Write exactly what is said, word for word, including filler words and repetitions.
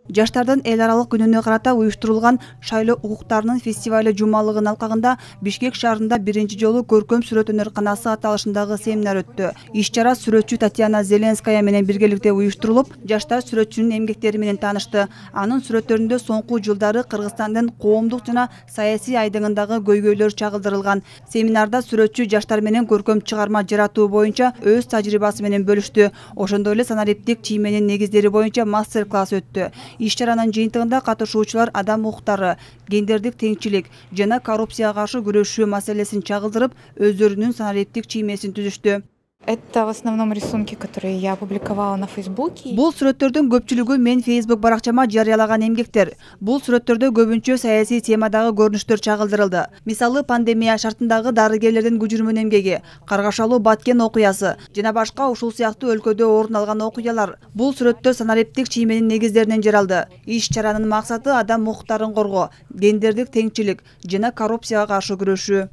Жаштардын эл аралык күнүнө карата уюштурулган шайлоо укуктарынын фестивале жумалыгынын алкагында Бишкек шаарында биринчи жолу көркөм сүрөт өнөрканасы аталышындагы семинар өттү. Иш-чара сүрөтчү Татьяна Зеленская менен биргеликте уюштурулуп, жаштар сүрөтчүнүн эмгектери менен таанышты. Анын сүрөттөрүндө соңку жылдары Кыргызстандын коомдук жана саясий айдыңындагы көйгөйлөр чагылдырылган. Семинарда сүрөтчү жаштар менен көркөм чыгарма жаратуу боюнча өз тажрыйбасы менен бөлүштү. Ошондой эле санариптик чийменин негиздери боюнча мастер-класс өттү. Иш-чаранын жыйынтыгында катышуучулар адам укуктары, гендердик теңчилик жана коррупцияга каршы күрөшүү маселесин чагылдырып, өздөрүнүн санариптик чиймесин түзүштү. Это в основном рисунки, которые я опубликовала на Фейсбуке. Бул сүрөттөрдүн көпчүлүгү мен Facebook баракчама жарыялаган эмгектер. Бул сүрөттөрдө көбүнчө саясий темадагы көрүнүштөр чагылдырылды. Мисалы, пандемия шартындагы дарыгерлердин күжүрмөн эмгеги, Каргашалуу Баткен окуясы жана башка ушул сыяктуу өлкөдө орун алган окуялар. Бул сүрөттөр санариптик чийменин негиздеринен жаралды. Иш-чаранын максаты адам укуктарын коргоо, гендердик теңчилик жана коррупцияга каршы күрөшүү.